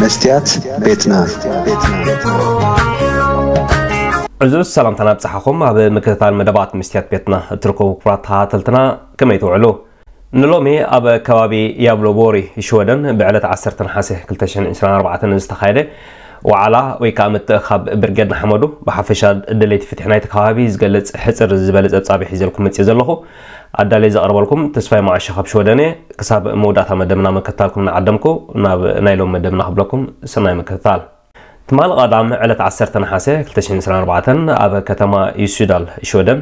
መስትያት ቤትና። ዕዙዝ ሰላምታና ኣብጽሓኹም። ኣብ ምክትታል መደባት መስትያት ቤትና እትርከቡ ክቡራት ተኸታተልትና፣ ከመይ ትውዕሉ? ንሎሚ ኣብ ከባቢ ያብሎቦሪ ሽወደን ብዕለት ዓሰርተ ነሓሰ ክልተ ሽሕን ዕስራን ኣርባዕተን ዝተኻየደ ዋዕላ ወይ ከዓ ምትእኻብ ብርጌድ ንሓመዱ ብሓፈሻ ደለይቲ ፍትሒ ናይቲ ከባቢ ዝገልጽ ሕጽር ዝበለ ጸብጻብ ሒዘልኩም መጽእ ዘለኹ። ኣዳለይ ዘቕርበልኩም ተስፋይ መዓሾ ካብ ሽወደን እየ። ክሳብ መውዳእታ መደብና ምክትታልኩም እናዓደምኩ ናብ ናይ ሎም መደብና ክብለኩም ሰናይ ምክትታል። ትማሊ ቀዳም ዕለት ዓሰርተ ነሓሰ ክልተ ሽሕን ዕስራን ኣርባዕተን ኣብ ከተማ ዩሱዳል ሽወደን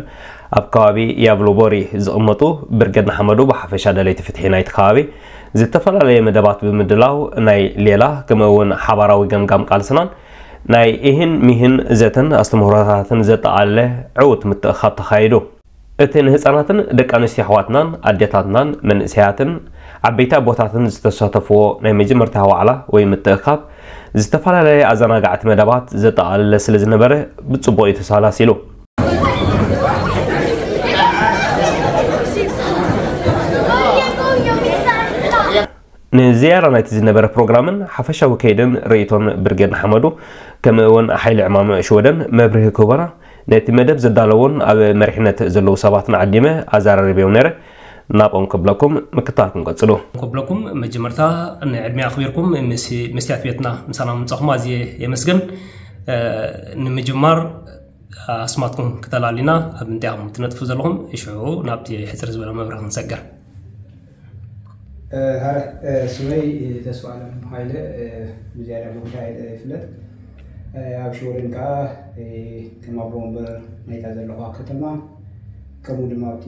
ኣብ ከባቢ ያቭሎቦሪ ዝቕመጡ ብርጌድ ንሓመዱ ብሓፈሻ ደለይቲ ፍትሒ ናይቲ ከባቢ ዝተፈላለየ መደባት ብምድላው ናይ ሌላ ከምኡ እውን ሓባራዊ ገምጋም ቃልስናን ናይ ኢህን ሚህን ዘተን ኣስተምህሮታትን ዘጠቓለለ ዕዉት ምትእኻብ ተኻይዱ። እቲ ንህፃናትን ደቂ ኣንስትዮ ኣሕዋትናን ኣዴታትናን መንእሰያትን ዓበይቲ ኣቦታትን ዝተሳተፍዎ ናይ መጀመርታ ዋዕላ ወይ ምትእኻብ ዝተፈላለየ ኣዘናጋዕቲ መደባት ዘጠቓለለ ስለ ዝነበረ ብፅቡቕ እዩ ተሳላሲሉ። ንዝያዳ ናይቲ ዝነበረ ፕሮግራምን ሓፈሻዊ ከይድን ርእይቶን ብርጌድ ንሓመዱ ከምኡ እውን ሓይሊ ዕማም ሽወደን መብርሂ ክህቦና ነቲ መደብ ዘዳለውን ኣብ መሪሕነት ዘለዉ ሰባትን ዓዲመ ኣዘራሪበዮም ነይረ። ናብኦም ክብለኩም ምክታልኩም ቀጽሉ። ክብለኩም መጀመርታ ንዕድሜ ኣኽቢርኩም ምስ መስትያት ቤትና ምሳና ምምጻኹም ኣዝየ የመስግን። ንምጅማር ኣስማትኩም ክተላሊና ኣብ ምንታይ ኢኹም ትነጥፉ ዘለኹም? ሽዑ ናብቲ ሕጽር ዝበለ መብርሂ ክንሰግር። ሃረ ስመይ ተስፋ ኣለም ሃይለ ብዝያዳ ብምንታይ ይፍለጥ። ኣብ ሽወደን ከዓ ከም ኣቦ ወንበር ናይታ ዘለኹዋ ከተማ ከምኡ ድማ ኣብቲ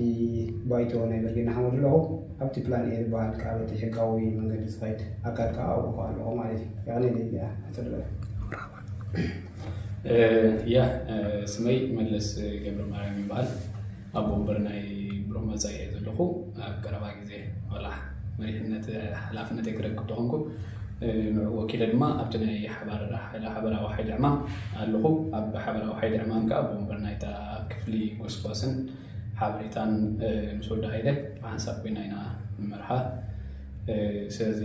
ባይቶ ናይ ብርጌድ ንሓመዱ ኣለኹ። ኣብቲ ፕላን ኤ ዝበሃል ከዓ በቲ ሕጋዊ መንገዲ ዝኸይድ ኣካል ከዓ ኣብኡ ከዓ ኣለኹ ማለት እዩ። ያኔ ለያ ኣፅልበለ ያ ስመይ መለስ ገብረ ማርያም ይበሃል። ኣቦ ወንበር ናይ ብሩህ መፃኢ እየ ዘለኹ። ኣብ ቀረባ ግዜ ዋላ መሪሕነት ሓላፍነት ክረክብ ተኾንኩ ንዑ ወኪለ ድማ ኣብቲ ናይ ሓባራዊ ሓይሊ ዕማም ኣለኹ። ኣብ ሓባራዊ ሓይሊ ዕማም ከዓ ኣቦ ወንበር ናይታ ክፍሊ ጎስጓስን ሓበሬታን ምስ ወዲ ሃይለ ብሓንሳብ ኮይና ኢና ንመርሓ። ስለዚ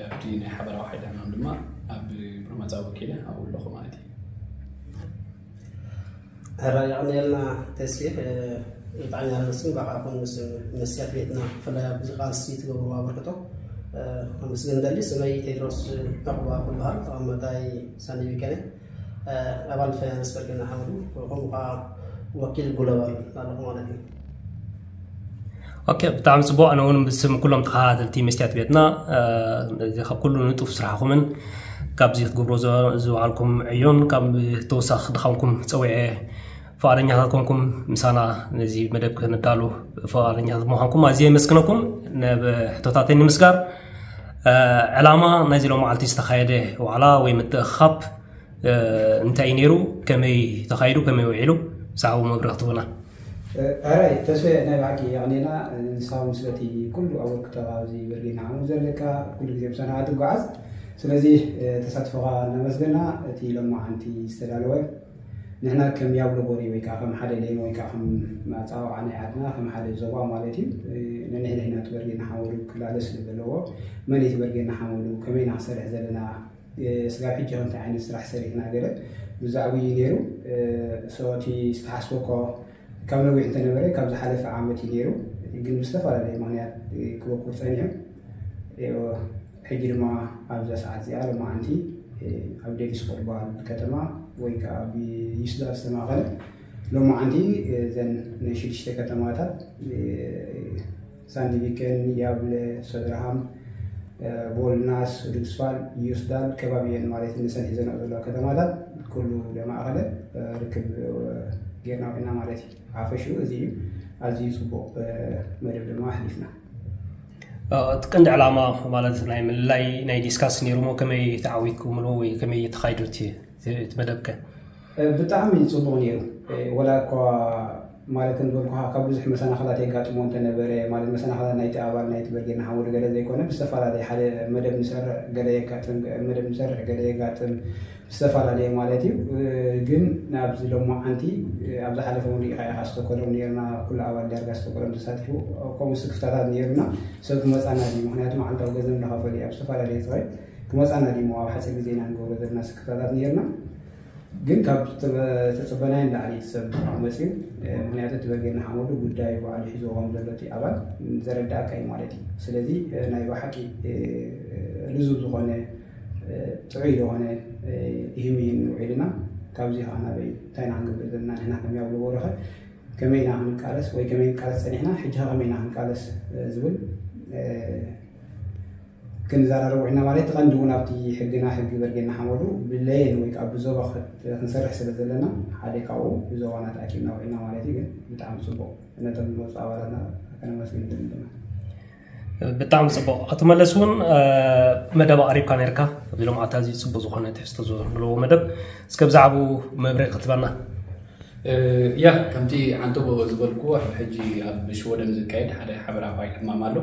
ኣብቲ ናይ ሓባራዊ ሓይሊ ዕማም ድማ ኣብ ብሩህ መፃኢ ወኪለ ኣብኡ ኣለኹ ማለት እዩ። ሕራይ የቐንየልና ተስፊ። ብጣዕሚ ኣመስግን ባዕልኹም ምስ መስትያት ቤትና ብፍላይ ኣብዚ ቃልሲ ትገብርዎ ኣበርክቶ ኣመስግን ደሊ። ስመይ ቴድሮስ ዕቑባ ክበሃል ተቐመጣይ ሳንዲቢከነ ኣባል ፋይናንስ በርጌድ ንሓመዱ ከምኡ ከዓ ወኪል ግሎባል ኣለኹ ማለት እዩ። ኦኬ ብጣዕሚ ፅቡቅ። ኣነ እውን ብስም ኩሎም ተኸታተልቲ መስትያት ቤትና ካብ ኩሉ ንጡፍ ስራሕኹምን ካብዚ ክትገብሮ ዝወዓልኩም ዕዮን ካብ ተወሳኺ ድኻምኩም ፀዊዐ ፍቓደኛታት ኮንኩም ምሳና ነዚ መደብ ክነዳሉ ፍቓደኛታት ምዃንኩም ኣዝየ የመስግነኩም። ናብ ሕቶታተይ ንምስጋር ዕላማ ናይዚ ሎም መዓልቲ ዝተኻየደ ዋዕላ ወይ ምትእኻብ እንታይ እዩ ነይሩ? ከመይ ተኻይዱ? ከመይ ውዒሉ? ብዛዕባኡ መብርሂ ክትህቡና። ሕራይ ተስፈ ናይ ብሓቂ የቕኔና ንስኻ ምስ በቲ ኩሉ ኣበርክቶ ኣብዚ ብርጌድ ንሓመዱ ዘለካ ኩሉ ግዜ ምሳና ትጓዓዝ። ስለዚ ተሳትፎኻ እናመስገና እቲ ሎማዓንቲ ዝተዳለወ ንሕና ከም ያብሎ ቦሪ ወይ ከዓ ከም ሓደ ሌን ወይ ከዓ ከም ኣፀዋውዓ ናይ ዓድና ከም ሓደ ዞባ ማለት እዩ ነንሕድሕድና እቲ ብርጌድ ንሓመዱ ክላለ ስለ ዘለዎ መን እቲ ብርጌድ ንሓመዱ ከመይ ኢና ክሰርሕ ዘለና ስጋብ ሕጂ ከ እንታይ ዓይነት ስራሕ ሰሪሕና ገለ ብዛዕባኡ እዩ ነይሩ። እቲ ዝተሓስበ እኮ ካብ ነዊሕ እንተነበረ ካብ ዝሓለፈ ዓመት እዩ ነይሩ፣ ግን ብዝተፈላለየ ምኽንያት ክበቁር ፀኒሑ። ሕጂ ድማ ኣብዛ ሰዓት እዚኣ ሎማዓንቲ ኣብ ዴሊስቦርግ በሃል ከተማ ወይ ከዓ ኣብ ዩስዳል ዝተማኸለ ሎማዓንቲ እዘን ናይ ሽዱሽተ ከተማታት ሳንዲቪከን፣ ያብለ፣ ሰድርሃም፣ ቦልናስ፣ ዱግስፋል፣ ዩስዳል ከባቢ እየን ማለት እዩ። ንሰን ሒዘንኦ ዘለዋ ከተማታት ኩሉ ዘማእኸለ ርክብ ጌርና ኮይና ማለት እዩ። ሓፈሽኡ እዚ እዩ። ኣዝዩ ፅቡቅ መደብ ድማ ኣሕሊፍና። እቲ ቀንዲ ዕላማ ማለት ናይ ምልላይ ናይ ዲስካስ ነይሩሞ ከመይ ተዓዊትኩምሉ ወይ ከመይ ተኻይዱ እቲ መደብከ? ብጣዕሚ ፅቡቕ ነይሩ። ወላ እኳ ማለት ከም ዝበልኩኻ ካብ ብዙሕ መሰናኽላት የጋጥሞ እንተነበረ ማለት መሰናኽላት ናይቲ ኣባል ናይቲ ብርጌድ ንሓመዱ ገለ ዘይኮነ ብዝተፈላለየ ሓደ መደብ ንሰርሕ ገለ የጋጥም መደብ ንሰርሕ ገለ የጋጥም ብዝተፈላለየ ማለት እዩ። ግን ናብዚ ሎማዓንቲ ኣብ ዝሓለፈ እውን ሪኢኻ ኢኻ ስቶኮሎም ነይርና ኩሉ ኣባል ዳርጋ ስቶኮሎም ተሳቲፉ ከምኡ ስክፍታታት ነይሩና ሰብ ክመፃና ድዩ ምክንያቱ መዓልታዊ ገንዘብ እናኸፈሉ እዩ ኣብ ዝተፈላለየ ፅባይ መፃና ዲሞ ኣብ ሓፂር ግዜ ኢና ንገብሮ ዘለና ስክፍታታት ነርና። ግን ካብ ተፀበናዮ ንላዕሊ እቲ ሰብ መፅዩ። ምክንያቱ እቲ በርጌድ ንሓመዱ ጉዳዩ ባዕሉ ሒዝዎ ከም ዘሎ እቲ ኣባል ዘረዳእካ እዩ ማለት እዩ። ስለዚ ናይ ብሓቂ ልዙብ ዝኾነ ጥዑይ ዝኾነ ይህም ይህን ውዒልና። ካብዚ ከዓ ናበይ እንታይ ኢና ክንገብር ዘለና ንሕና ከመይ ኣብ ልቦ ረኸ ከመይ ኢና ክንቃለስ ወይ ከመይ ንቃለስ ፀኒሕና ሕጂ ከመይ ኢና ክንቃለስ ዝብል ክንዘራረብ ውዒልና ማለት። እቲ ቀንዲ እውን ኣብቲ ሕግና ሕጊ በርጌድ ንሓመዱ ብለየን ወይ ከዓ ብዞባ ክንሰርሕ ስለ ዘለና ሓደ ካብኡ ብዞባና ተኣኪብና ውዒልና ማለት እዩ። ግን ብጣዕሚ ፅቡቅ ነቶም ዝመፁ ኣባላትና ከነመስግን ድማ ብጣዕሚ ፅቡቅ ኣቶ መለስ እውን መደብ ኣቅሪብካ ነርካ ኣብዚ ሎም ኣታ እዚ ፅቡቅ ዝኾነ ትሕዝቶ ዘለዎ መደብ እስከ ብዛዕባኡ መብርሂ ክትበና ያ ከምቲ ዓንተቦ ዝበልኩዎ ሕጂ ኣብ ሽወደን ዝካየድ ሓደ ሓበራዊ ዕማም ኣሎ።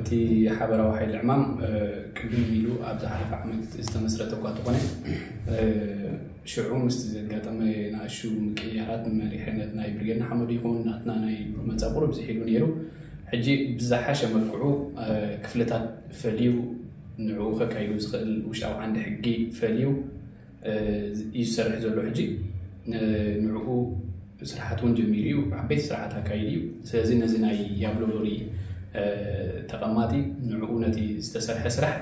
እቲ ሓበራዊ ሓይሊ ዕማም ቅድም ኢሉ ኣብ ዝሓለፈ ዓመት ዝተመስረተ እኳ ተኾነ ሽዑ ምስቲ ዘጋጠመ ንኣሹ ምቅያራት መሪሕነት ናይ ብርጌድ ንሓመዱ ይኹን ናትና ናይ መፃ ቁሩብ ዝሒሉ ነይሩ። ሕጂ ብዝሓሸ መልክዑ ክፍልታት ፈልዩ ንዕኡ ከካይዱ ዝኽእል ውሽጣዊ ዓንዲ ሕጊ ፈልዩ እዩ ዝሰርሕ ዘሎ። ሕጂ ንዕኡ ስራሓት እውን ጀሚሩ እዩ። ዓበይቲ ስራሓት ኣካይዱ እዩ። ስለዚ ነዚ ናይ ያብሎሎሪ ተቐማጢ ንዕኡ ነቲ ዝተሰርሐ ስራሕ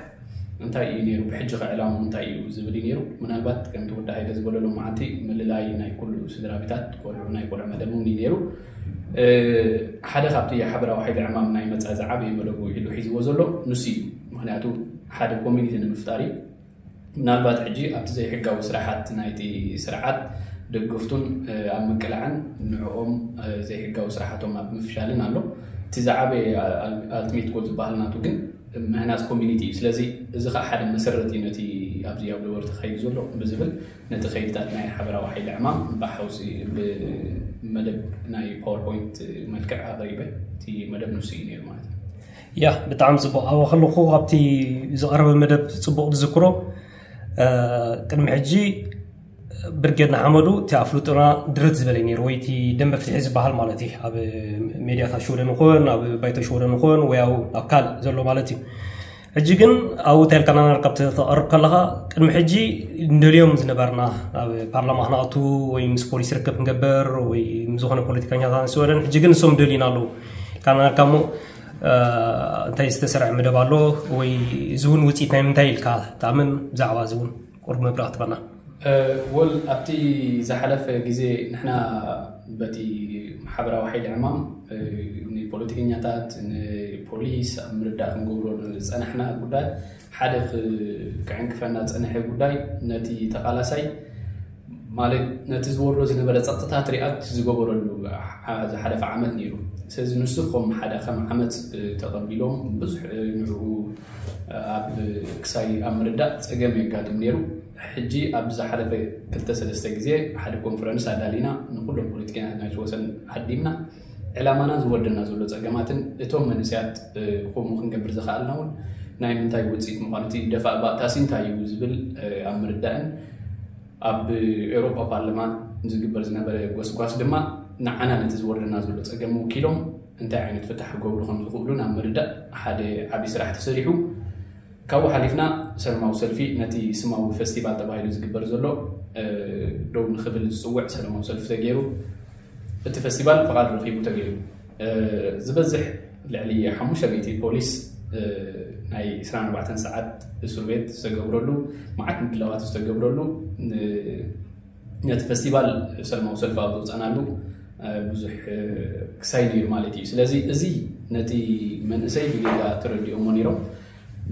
እንታይ እዩ ነይሩ፣ ብሕጂ ከዕላሙ እንታይ እዩ ዝብል እዩ ነይሩ። ምናልባት ከምቲ ወዲ ሃይለ ዝበሎ ሎም መዓልቲ ምልላይ ናይ ኩሉ ስድራ ቤታት ቆልዑ ናይ ቆልዑ መደብ እውን እዩ ነይሩ። ሓደ ካብቲ ሓበራዊ ሓይሊ ዕማም ናይ መፃ ዝዓበየ መደቡ ኢሉ ሒዝዎ ዘሎ ንሱ እዩ። ምክንያቱ ሓደ ኮሚኒቲ ንምፍጣር እዩ። ምናልባት ሕጂ ኣብቲ ዘይሕጋዊ ስራሓት ናይቲ ስርዓት ደገፍቱን ኣብ ምቅላዕን ንዕኦም ዘይሕጋዊ ስራሓቶም ኣብ ምፍሻልን ኣሎ። እቲ ዝዓበየ ኣልቲሜት ጎል ዝበሃል ናቱ ግን ምህናፅ ኮሚኒቲ እዩ። ስለዚ እዚ ከዓ ሓደ መሰረት እዩ ነቲ ኣብዚ ኣብ ነበርቲ ተኻይዱ ዘሎ ብዝብል ነቲ ከይድታት ናይ ሓበራዊ ሓይሊ ዕማም ብሓውሲ ብመደብ ናይ ፓወርፖይንት መልክዕ ኣቕሪበ። እቲ መደብ ንሱ እዩ ነይሩ ማለት እዩ። ያ ብጣዕሚ ፅቡቅ ኣብ ከለኹ ኣብቲ ዝቐረበ መደብ ፅቡቅ ዝዝክሮ ቅድሚ ሕጂ ብርጌድ ንሓመዱ እቲ ኣፍልጦና ድርት ዝበለ ነይሩ ወይ እቲ ደንበ ፍትሒ ዝበሃል ማለት እዩ ኣብ ሜድያታት ሽወደን ይኹን ኣብ ባይቶ ሽወደን ይኹን ወይ ኣብ ኣካል ዘሎ ማለት እዩ። ሕጂ ግን ኣብኡ እንታይ ኢልካ ናናርካ ተቐርብ ከለኻ ቅድሚ ሕጂ እንደልዮም ዝነበርና ኣብ ፓርላማ ክነኣቱ ወይ ምስ ፖሊስ ርክብ ክንገብር ወይ ምስ ዝኾነ ፖለቲከኛታት ንስወደን ሕጂ ግን ንሶም ደልዩና ኣለዉ ኢልካ ናናርካ እሞ እንታይ ዝተሰርዐ መደብ ኣሎ ወይ እዚ እውን ውፅኢት ናይ ምንታይ ኢልካ ትኣምን ብዛዕባ እዚ እውን ቁርብ መብራህ ትበና ወል ኣብቲ ዝሓለፈ ግዜ ንሕና በቲ ማሕበራዊ ሓይሊ ዕማም ንፖለቲከኛታት ንፖሊስ ኣብ ምርዳእ ክንገብሮ ዝፀናሕና ጉዳይ ሓደ ክዕንክፈና ዝፀንሐ ጉዳይ ነቲ ተቃላሳይ ማለት ነቲ ዝወርዶ ዝነበረ ፀጥታ ትሪኣት ዝገበረሉ ዝሓለፈ ዓመት ነይሩ። ስለዚ ንሱ ከም ሓደ ከም ዓመፅ ተቐቢሎም ብዙሕ ንዕኡ ኣብ ክሳይ ኣብ ምርዳእ ፀገም የጋጥም ነይሩ። ሕጂ ኣብ ዝሓለፈ ክልተ ሰለስተ ግዜ ሓደ ኮንፈረንስ ኣዳሊና ንኩሎም ፖለቲከኛታት ናይ ወሰን ዓዲምና ዕላማና ዝወርደና ዘሎ ፀገማትን እቶም መንእሰያት ከምኡ ክንገብር ዝኸኣልና እውን ናይ ምንታይ ውፅኢት ምዃኑ እቲ ደፋእ ባእታሲ እንታይ እዩ ዝብል ኣብ ምርዳእን ኣብ ኤውሮፓ ፓርላማ ዝግበር ዝነበረ ጎስጓስ ድማ ንዓና ነቲ ዝወርደና ዘሎ ፀገም ወኪሎም እንታይ ዓይነት ፍታሕ ክገብሩ ከም ዝኽእሉ ናብ ምርዳእ ሓደ ዓብዪ ስራሕ ተሰሪሑ። ካብኡ ሓሊፍና ሰላማዊ ሰልፊ ነቲ ስማዊ ፈስቲቫል ተባሂሉ ዝግበር ዘሎ ደው ንኽብል ዝፅውዕ ሰላማዊ ሰልፊ ተገይሩ። እቲ ፈስቲቫል ፍቓድ ረኺቡ ተገይሩ። ዝበዝሕ ልዕሊ ሓሙሽተ ሚእቲ ፖሊስ ናይ ዕስራን ኣርባዕተን ሰዓት እስር ቤት ዝተገብረሉ መዓት ምድላዋት ዝተገብረሉ ነቲ ፈስቲቫል ሰላማዊ ሰልፊ ኣብ ዝወፀናሉ ብዙሕ ክሳይ ነይሩ ማለት እዩ። ስለዚ እዚ ነቲ መንእሰይ ብጌጋ ተረዲኦሞ ነይሮም።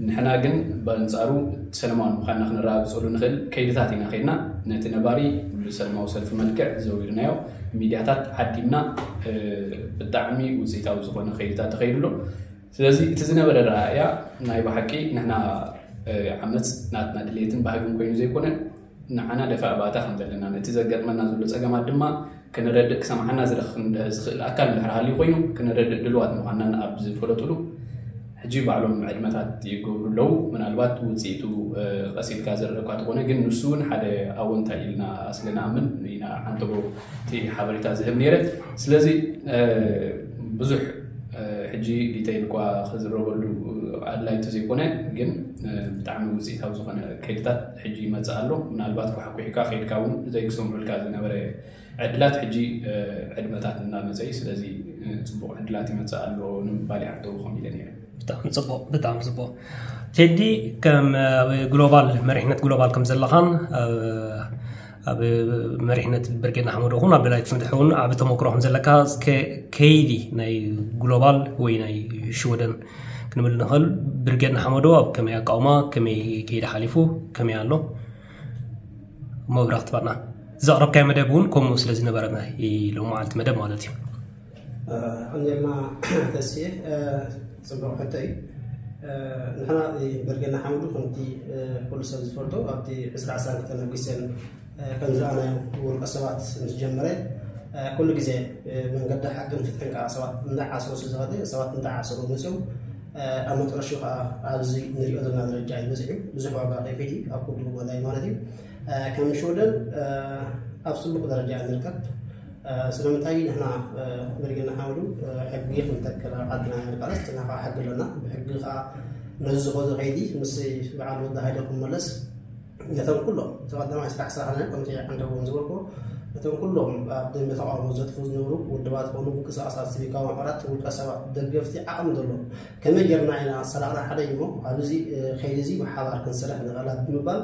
ንሕና ግን በንፃሩ ሰላማዊ ምዃንና ክነረጋግፀሉ ንኽእል ከይድታት ኢና ከይድና ነቲ ነባሪ ብሰላማዊ ሰልፊ መልክዕ ዘዊርናዮ ሚድያታት ዓዲምና ብጣዕሚ ውፅኢታዊ ዝኾነ ከይድታት ተኸይዱ ኣሎ። ስለዚ እቲ ዝነበረ ረኣያ ናይ ብሓቂ ንሕና ዓመፅ ናትና ድሌትን ባህግን ኮይኑ ዘይኮነ ንዓና ደፋእ ባእታ ከም ዘለና ነቲ ዘጋጥመና ዘሎ ፀገማት ድማ ክነረድእ ክሰምዓና ዝረኽብ ዝኽእል ኣካል እንድሕር ሃልዩ ኮይኑ ክነረድእ ድልዋት ምዃንና ኣብ ዝፈለጡሉ ሕጂ ባዕሎም ዕድመታት ይገብሩ ኣለዉ። ምናልባት ውፅኢቱ ቀስ ኢልካ ዝረእኳ ተኾነ ግን ንሱ እውን ሓደ ኣወንታ ኢልና ስለ ንኣምን ኢና ዓንተቦ እቲ ሓበሬታ ዝህብ ነይረ። ስለዚ ብዙሕ ሕጂ ዲተይል እኳ ክዝረበሉ ኣድላይ እንተዘይኮነ፣ ግን ብጣዕሚ ውፅኢታዊ ዝኾነ ከይድታት ሕጂ ይመፅእ ኣሎ። ምናልባት ኳሕኩሒካ ከይድካ እውን ዘይክሰምዑልካ ዝነበረ ዕድላት ሕጂ ዕድመታት እናመፀ እዩ። ስለዚ ፅቡቕ ዕድላት ይመፅእ ኣሎ ንምባል ይዓደው ከም ኢለ ነይረ። ብጣዕሚ ፅቡቕ፣ ብጣዕሚ ፅቡቕ። ቴዲ፣ ከም ኣብ ግሎባል መሪሕነት ግሎባል ከም ዘለኻን ኣብ መሪሕነት ብርጌድ ንሓመዱ ኹን ኣብ ደላይት ፍትሒ እውን ዓቢ ተመክሮ ከም ዘለካ፣ ከይዲ ናይ ግሎባል ወይ ናይ ሽወደን ክንብል ንኽእል። ብርጌድ ንሓመዱ ኣብ ከመይ ኣቃውማ፣ ከመይ ከይዲ ሓሊፉ፣ ከመይ ኣሎ? መብራኽ ትባና ዘቕረብካዮ መደብ እውን ከምኡ ስለ ዝነበረ ሎማዓልቲ መደብ ማለት እዩ። ኣንጀልና ተስየ፣ ፅቡቕ ሕቶ እዩ። ንሕና ብርጌድ ንሓመዱ ከምቲ ኩሉ ሰብ ዝፈልጦ ኣብቲ ዕስራ ዕስራን ክልተን ኣጉስትን ከም ዝረኣናዮ ውልቀ ሰባት ምስ ጀመረ ኩሉ ግዜ መንገዲ ሓቅን ፍትሕን ከዓ ሰባት እንዳዓሰሩ ስለ ዝኸደ ሰባት እንዳዓሰሩ መፅኦም ኣብ መጨረሽኡ ከዓ ኣብዚ ንሪኦ ዘለና ደረጃ እዩ በፂሑ። ብዙሕ ዋጋ ከፊሉ እዩ ኣብ ኩሉ መዳይ ማለት እዩ። ከም ሽወደን ኣብ ፅቡቕ ደረጃ ንርከብ። ስለምንታይ ንሕና ብርጌድ ንሓመዱ ሕጊ ክንተክል ኣብ ዓድና ንቃለስ፣ ንሕና ከዓ ሕጊ ኣለና። ብሕጊ ከዓ ነዚ ዝኾነ ከይዲ ምስ በዓል ወዲ ሃይለ ክመለስ ነቶም ኩሎም እቲ ቀዳማይ ስራሕ ስራሕና ከምቲ ዓንደቦም ዝበልኩ ነቶም ኩሎም ኣብ ደንበ ተቃውሞ ዘጥፉ ዝነበሩ ውድባት ኮኑ ምንቅስቃሳት ሲቪካዊ ማሕበራት ውልቀ ሰባት ደገፍቲ ዓቕሚ ዘለዎም ከመይ ጌርና ኢና ሰላዕና ሓደ እሞ ኣብዚ ከይዲ እዚ ብሓባር ክንሰርሕ ንኽእል ብምባል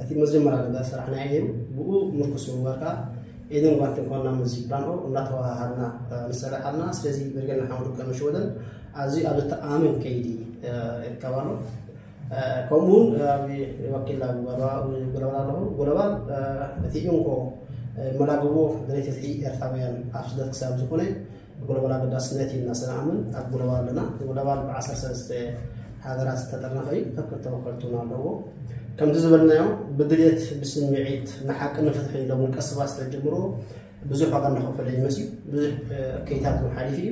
እቲ መጀመርያ ነገር ስራሕና እዩ ነይሩ። ብኡ ምርኩስ ብምግባር ከዓ ኢድን ጓንትን ኮንና ምስዚ ፕላን ኦ እናተወሃሃድና ንሰርሕ ኣለና። ስለዚ ብርጌድ ንሓመዱ ከም ሽወደን ኣብዚ ኣብ ዝተኣማመን ከይዲ ይርከብ ኣሎ። ከምኡ እውን ወኪል ጎለባል ኣለኹ። ጎለባል እቲ እንኮ መላግቦ ድሌት ፍትሒ ኤርትራውያን ኣብ ስደት ክሳብ ዝኾነ ጎለባል ኣገዳስነት እዩ እናሰናኣምን ኣብ ጎለባል ኣለና። ጎለባል ብዓሰርተ ሰለስተ ሃገራት ዝተጠርነፈ እዩ። ከክል ተወከልቲ እውን ኣለዎ። ከምቲ ዝበልናዮ ብድሌት ብስምዒት ንሓቂ ንፍትሒ ኢሎም ውልቀ ሰባት ስለዝጀምርዎ ብዙሕ ዋጋ እናኸፈለ ይመፅእ ብዙሕ ከይታት ሓሊፉ እዩ።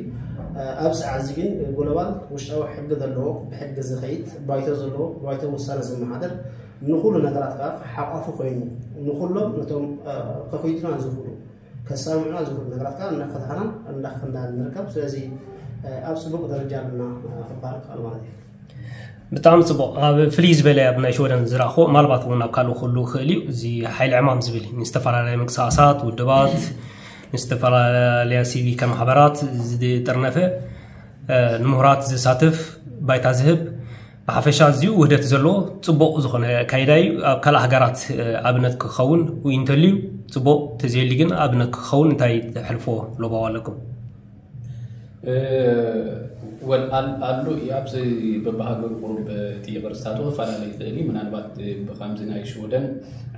ኣብ ሰዓት እዚ ግን ግሎባል ውሽጣዊ ሕጊ ዘለዎ ብሕጊ ዝኸይድ ባይቶ ዘለዎ ባይቶ ውሳነ ዝመሓደር ንኩሉ ነገራት ከዓ ሓቋፊ ኮይኑ ንኩሎም ነቶም ከፊቱና ዝኽእሉ ከሳምዑና ዝኽእሉ ነገራት ከዓ እናፈታሕናን እናኸፈናን ንርከብ። ስለዚ ኣብ ፅቡቅ ደረጃ ኣለና ክበሃል ይከኣል ማለት እዩ። ብጣዕሚ ፅቡቕ። ኣብ ፍልይ ዝበለ ኣብ ናይ ሽወደን ዝረእኹ ማልባት እውን ኣብ ካልእ ኩሉ ክእል እዩ። እዚ ሓይሊ ዕማም ዝብል ንዝተፈላለየ ምንቅስቃሳት ውድባት ንዝተፈላለያ ሲቪከ ማሕበራት ዝጥርነፈ ንምሁራት ዝሳትፍ ባይታ ዝህብ ብሓፈሻ እዚኡ ውህደት ዘለዎ ፅቡቕ ዝኾነ ኣካይዳ እዩ። ኣብ ካልእ ሃገራት ኣብነት ክኸውን ወይ እንተልዩ ፅቡቕ፣ ተዘየሊ ግን ኣብነት ክኸውን እንታይ ተሕልፎ ሎባው ኣለኩም? ወል ኣሉ እዩ ኣብዚ በብሃገሩ ቁሩብ እቲ ቅርፅታቱ ክፈላለ ይኽእል እዩ። ምናልባት ብከምዚ ናይ ሽወደን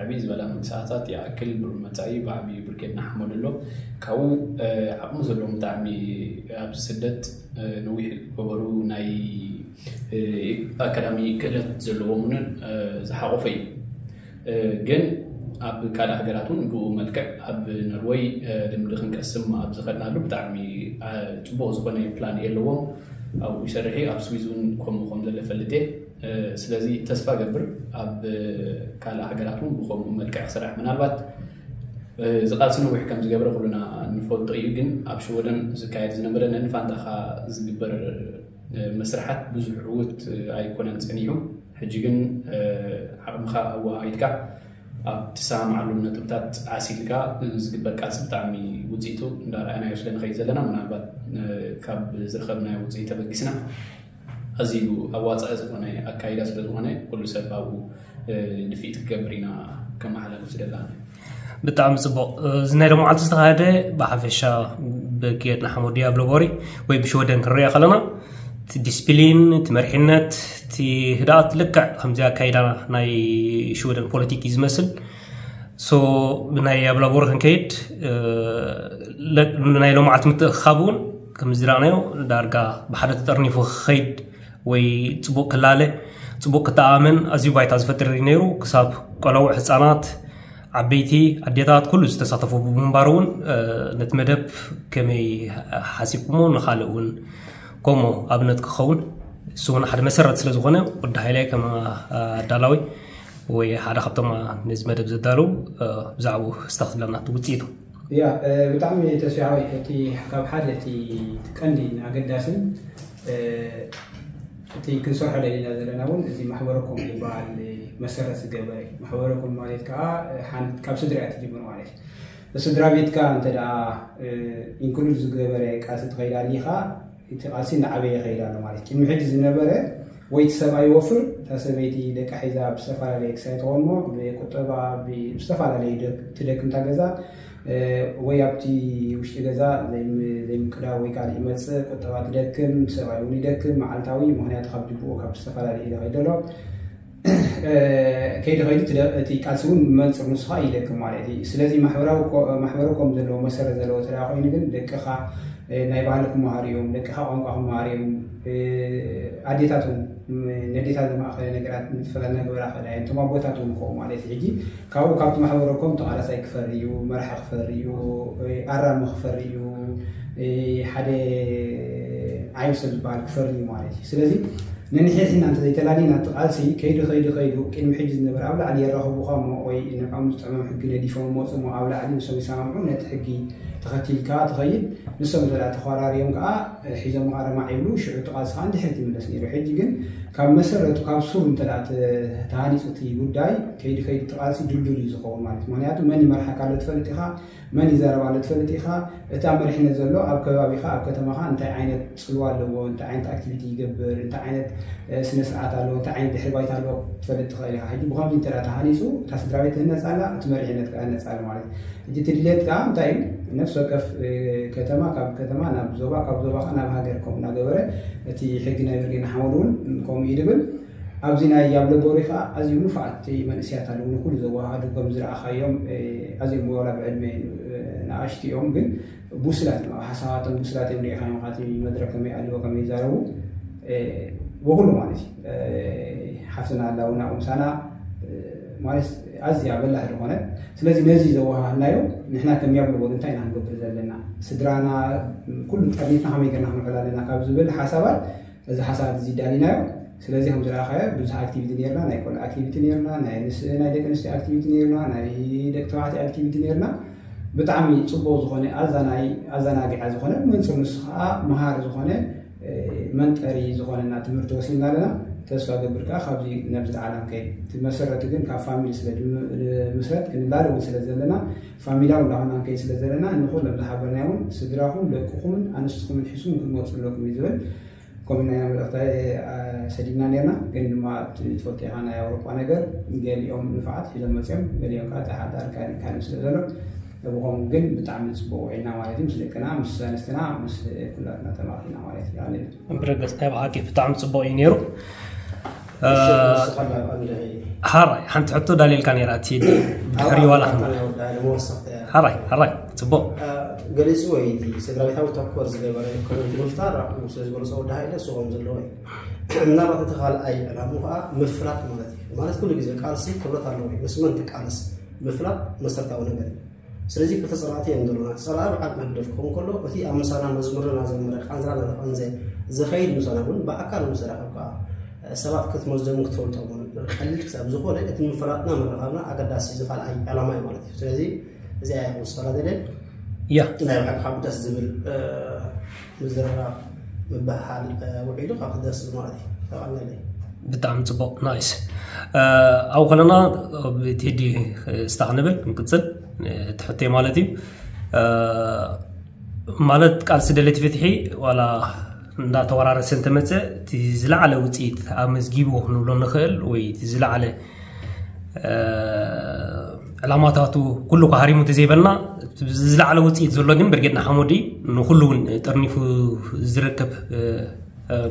ዕብይ ዝበላ ምንቅስቃሳት ይኣክል ብሩብ መፃኢ ብዓብዩ ብርጌድ ንሓመዱ ኣሎ። ካብኡ ዓቕሚ ዘለዎም ብጣዕሚ ኣብዚ ስደት ነዊሕ ዝገበሩ ናይ ኣካዳሚ ክእለት ዘለዎም እውን ዝሓቆፈ እዩ። ግን ኣብ ካልእ ሃገራት እውን ብኡ መልክዕ ኣብ ነርወይ ልምዲ ክንቀስም ኣብ ዝኸድናሉ ብጣዕሚ ፅቡቅ ዝኾነ ፕላን የለዎም። ኣብኡ ይሰርሕ እዩ። ኣብ ስዊዝ እውን ከምኡ ከም ዘሎ ፈልጥ እየ። ስለዚ ተስፋ ገብር ኣብ ካልእ ሃገራት እውን ብከምኡ መልክዕ ክስራሕ ምናልባት እዚ ቃልሲ ነዊሕ ከም ዝገብረ ኩሉና ንፈልጦ እዩ። ግን ኣብ ሽወደን ዝካየድ ዝነበረ ነንፋንታኻ ዝግበር መስርሓት ብዙሕ ዕውት ኣይኮነን ጸኒሑ። ሕጂ ግን ዓቕምኻ ኣወሃሂድካ ኣብ ትሰማምዓሎም ነጥብታት ዓሲልካ ዝግበር ቃልሲ ብጣዕሚ ውፅኢቱ እንዳረኣናዮ ስለ ንኸይድ ዘለና ምናልባት ካብ ዝረኸብናዮ ውፅኢት ተበጊስና ኣዝዩ ኣዋፃኢ ዝኾነ ኣካይዳ ስለ ዝኾነ ኩሉ ሰብ ኣብኡ ድፊት ክገብር ኢና ከመሓላልፍ ዝደላና። ብጣዕሚ ፅቡቕ። እዚ ናይ ሎማዓልቲ ዝተኻየደ ብሓፈሻ ብጌድ ንሓመዱ ዲያብሎ ቦሪ ወይ ብሽወደን ክንሪኦ ከለና እቲ ዲስፕሊን፣ እቲ መሪሕነት፣ እቲ ህድኣት ልክዕ ከምዚ ኣካይዳ ናይ ሽወደን ፖለቲክ እዩ ዝመስል። ሶ ብናይ ኣብላቦር ክንከይድ ናይ ሎማዓልቲ ምትእኽኻብ እውን ከምዚ ዝረኣናዮ ዳርጋ ብሓደ ተጠርኒፉ ክኸይድ ወይ ፅቡቅ ክላለ ፅቡቅ ክተኣመን ኣዝዩ ባይታ ዝፈጥር እዩ ነይሩ። ክሳብ ቆለውዕ፣ ህፃናት፣ ዓበይቲ፣ ኣዴታት ኩሉ ዝተሳተፎ ብምንባሩ እውን ነቲ መደብ ከመይ ሓሲብኩሞ ንካልእ እውን ከምኡ ኣብነት ክኸውን እሱ እውን ሓደ መሰረት ስለ ዝኾነ ወዲ ሃይላይ ከም ኣዳላዊ ወይ ሓደ ካብቶም ነዚ መደብ ዘዳለዉ ብዛዕባኡ ክስታኽ ዝብለና እቲ ውፅኢቱ። ያ ብጣዕሚ ተስፋ ሓወይ፣ እቲ ካብ ሓደ እቲ ቀንዲ ኣገዳስን እቲ ክንሰርሖ ደሊና ዘለና እውን እዚ ማሕበረኮም ዝበሃል መሰረት ዝገበረ እዩ። ማሕበረኮም ማለት ከዓ ካብ ስድራ እያ ትጅምር ማለት እዩ። ስድራ ቤትካ እንተ ደኣ ኢንክሉድ ዝገበረ ቃልሲ ትኸይድ ኣሊኻ፣ እቲ ቃልሲ እናዓበየ ይኸይድ ኣሎ ማለት እዩ። ቅድሚ ሕጂ ዝነበረ ወይ እቲ ሰብኣይ ይወፍር፣ እታ ሰበይቲ ደቃ ሒዛ ብዝተፈላለየ ክሳይ ትኾንሞ ብቁጠባ ብዝተፈላለየ ትደክምታ ገዛ ወይ ኣብቲ ውሽጢ ገዛ ዘይምቅዳው ወይ ካልእ ይመፅእ፣ ቁጠባ ትደክም፣ ሰብኣይ እውን ይደክም መዓልታዊ፣ ምክንያቱ ካብ ጅብኡ ካብ ዝተፈላለዩ ኢለ ከይደሎ ከይዲ ከይዲ እቲ ቃልሲ እውን መንፅር ንስኻ ይደክም ማለት እዩ። ስለዚ ማሕበራዊ ኮም ዘለዎ መሰረት ዘለዎ ተዳ ኮይኑ ግን ደቅኻ ናይ ባህሊ ክመሃሩ እዮም፣ ደቅኻ ቋንቋ ክመሃሩ እዮም። ኣዴታት እውን ነዴታት ዝማእኸለ ነገራት ምትፈላ እናገበራ ከዳ እዮም። እቶም ኣቦታት እውን ከኡ ማለት እዩ። ሕጂ ካብኡ ካብቲ ማሕበረኮም ተቓላሳይ ክፈሪ እዩ፣ መራሒ ክፈሪ እዩ፣ ኣራሚ ክፈሪ እዩ፣ ሓደ ዓይብ ሰብ ዝበሃል ክፈሪ እዩ ማለት እዩ። ስለዚ ነንሕድሕድና እንተዘይተላሊና እቲ ቃልሲ ከይዱ ከይዱ ከይዱ ቅድሚ ሕጂ ዝነበረ ኣብ ላዕሊ የራኽቡኻ እሞ ወይ ንዕኦም ዝጥዕሞም ሕጊ ነዲፎም መፁ እሞ ኣብ ላዕሊ ንሶም ይሰማምዑ ነቲ ሕጊ ተኸቲልካ ትኸይድ። ንሶም እንተ ተኾራርዮም ከዓ ሒዞም ኣረማዕ ይብሉ፣ ሽዑ እቲ ቃልሲ ከዓ ንድሕሪት ይምለስ ነይሩ። ሕጂ ግን ካብ መሰረቱ ካብ ሱሩ እንተ ተሃኒፁ እቲ ጉዳይ ከይዲ ከይዲ እቲ ቃልሲ ድልዱል እዩ ዝኸውን ማለት እዩ። ምክንያቱ መን ይመርሓካ ኣሎ ትፈልጥ ኢኻ፣ መን ይዛረብ ኣሎ ትፈልጥ ኢኻ። እቲ ኣብ መሪሕነት ዘሎ ኣብ ከባቢኻ ኣብ ከተማኻ እንታይ ዓይነት ፅልዋ ኣለዎ፣ እንታይ ዓይነት ኣክቲቪቲ ይገብር፣ እንታይ ዓይነት ስነ ስርዓት ኣለዎ፣ እንታይ ዓይነት ድሕሪ ባይታ ኣለዎ ክትፈልጥ ትኽእል ኢኻ። ሕጂ ብኸምዚ እንተ ተሃኒፁ እታ ስድራ ቤት ትህነፅ ኣላ፣ እቲ መሪሕነት ከዓ ይህነፅ ኣሎ ማለት እዩ። ሕጂ እቲ ድሌት ከዓ እንታይ እዩ? ነፍሲ ወከፍ ከተማ ካብ ከተማ ናብ ዞባ፣ ካብ ዞባ ከዓ ናብ ሃገር ከምኡ እናገበረ እቲ ሕጊ ናይ ብርጌድ ንሓመዱ እውን ከምኡ እዩ ድብል። ኣብዚ ናይ ኣብ ለቦሪ ከዓ ኣዝዮም ንፉዓት መንእስያት ኣለዉ፣ ንኩሉ ዘወሃሃዱ ከም ዝረኣኻዮም ኣዝዮም ዋላ ብዕድመ ንኣሽቱ እዮም ግን ብሱላት እዮም። ኣብ ሓሳባቶም ብሱላት እዮም። ሪኢኻዮም ካቲ መድረክ ከመይ ኣለዎ ከመይ ይዛረቡ ብኩሉ ማለት እዩ። ሓፍትና ኣላ እውን ኣብኡ ምሳና ማለት ኣዝያ በላሕ ዝኾነ። ስለዚ ነዚ ዘወሃሃድናዮ ንሕና ከም ያብሎ እንታይ ኢና ክንገብር ዘለና፣ ስድራና ኩሉ ጠርኒፍና ከመይ ገርና ክንውዕል ኣለና ካብ ዝብል ሓሳባት እዚ ሓሳብ እዚ ዳሊናዮ። ስለዚ ከም ዝረኣኻዮ ብዙሕ ኣክቲቪቲ ነርና፣ ናይ ቆልዓ ኣክቲቪቲ ነርና፣ ናይ ምስ ናይ ደቂ ኣንስትዮ ኣክቲቪቲ ነርና፣ ናይ ደቂ ተባዕትዮ ኣክቲቪቲ ነርና። ብጣዕሚ ፅቡቅ ዝኾነ ኣዛናይ ኣዛናጊዓ ዝኾነ መንፅር ንሱ ከዓ መሃሪ ዝኾነ መንጠሪ ዝኾነና ትምህርቲ ወሲድና ኣለና። ተስፋ ገብር ከዓ ካብዚ ነብዚ ዓለም ከይ እቲ መሰረቱ ግን ካብ ፋሚሊ ስለ ምስረት ክንላለ እውን ስለ ዘለና ፋሚላዊ እንዳኾና ንከይ ስለ ዘለና ንኹሎም ዝሓበርና እውን ስድራኹም ደቅኹምን ኣንስትኹምን ሒሱም ክንመፁ ኣለኩም እዩ ዝብል። ከምኡ ናይ መልእኽቲ ሰዲድና ነርና። ግን ድማ ትፈልጦ ኢኻ ናይ ኣውሮጳ ነገር ገሊኦም ንፋዓት ሒዞም መፅኦም ገሊኦም ከዓ ተሓዳር ካልእ ካልእ ስለ ዘሎ ብኸምኡ ግን ብጣዕሚ ፅቡቅ ውዒልና ማለት እዩ። ምስ ደቅና ምስ ኣንስትና ምስ ኩላትና ተማኪና ማለት እዩ። ብረገፅ ናይ ብሓቂ ብጣዕሚ ፅቡቅ እዩ ነይሩ። ሓራይ ሓንቲ ሕቶ ዳልየልካ ነይራ እቲ ድሕሪ ዋላ ሓራይ ሓራይ ፅቡቅ ገሊፁ ወይ እቲ ስድራ ቤታዊ ተኮር ዝገበረ ኮሚኒቲ ምፍጣር ስለ ዝገለፆ ወዲ ሃይለ ስቆም ዘለዎ እዩ። ምናልባት እቲ ካልኣይ ዕላሙ ከዓ ምፍላጥ ማለት እዩ። ማለት ኩሉ ግዜ ቃልሲ ክብረት ኣለዎ እዩ። ምስ መን ትቃለስ ምፍላጥ መሰረታዊ ነገር እዩ። ስለዚ ክልተ ፀላእቲ እዮም ዘለና። እቲ ፀላኢ በዓል ህግደፍ ክኸውን ከሎ እቲ ኣብ ምሳና መዝሙር እናዘመረ ቃንዝራ እናተቐንዘ ዝኸይድ ምሳና እውን ብኣካል ምስ ተራኸብካ ሰባት ክትመዝኖምን ክትፈልጦምን ቀሊል ክሳብ ዝኾነ እቲ ምፍላጥና ምርኻብና ኣገዳሲ እዚ ካልኣይ ዕላማ እዩ ማለት እዩ። ስለዚ እዚኣ እያ ክውስኸላ ደልየ። ያ ናይ ብሓቂ ካብ ደስ ዝብል ምዝርራብ ምብህሃል ውዒሉ ካብ ደስ ዝብል ማለት እዩ። ተቐለለይ ብጣዕሚ ፅቡቅ ናይስ። ኣብኡ ከለና ቴዲ ስታክ ንብል ንቅፅል ትሕተይ ማለት እዩ። ማለት ቃልሲ ደለይቲ ፍትሒ ዋላ እንዳተወራረሰ እንተመፀ እቲ ዝለዓለ ውፅኢት ኣመዝጊቡ ክንብሎ ንኽእል ወይ እቲ ዝለዓለ ዕላማታቱ ኩሉ ሃሪሙ እንተዘይበልና ዝለዓለ ውፅኢት ዘሎ ግን ብርጌድ ንሓመዱ ንኩሉ እውን ጠርኒፉ ዝርከብ